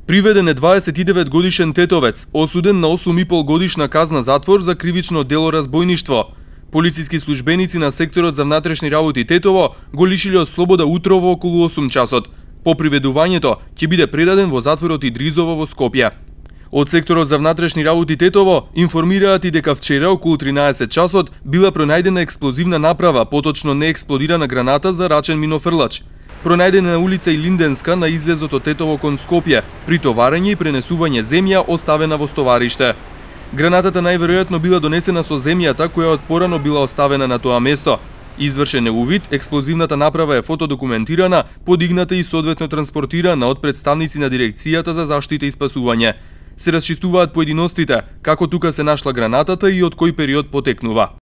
Приведен е 29 годишен тетовец, осуден на 8,5 годишна казна затвор за кривично дело разбойништво. Полициски службеници на секторот за внатрешни работи Тетово го лишиле од слобода утрово околу 8 часот. По приведувањето ќе биде предаден во затворот Идризово во Скопје. Од секторот за внатрешни работи Тетово информираат и дека вчера околу 13 часот била пронајдена експлозивна направа, поточно неексплодирана граната за рачен минофрлач. Пронајдена на улица Илинденска на излезот од Тетово кон Скопје, при товарење и пренесување земја оставена во стовариште. Гранатата најверојатно била донесена со земјата која од порано била оставена на тоа место. Извршен е увид, експлозивната направа е фотодокументирана, подигната и соодветно транспортирана од представници на Дирекцијата за заштита и спасување. Се расчистуваат поединостите, како тука се нашла гранатата и од кој период потекнува.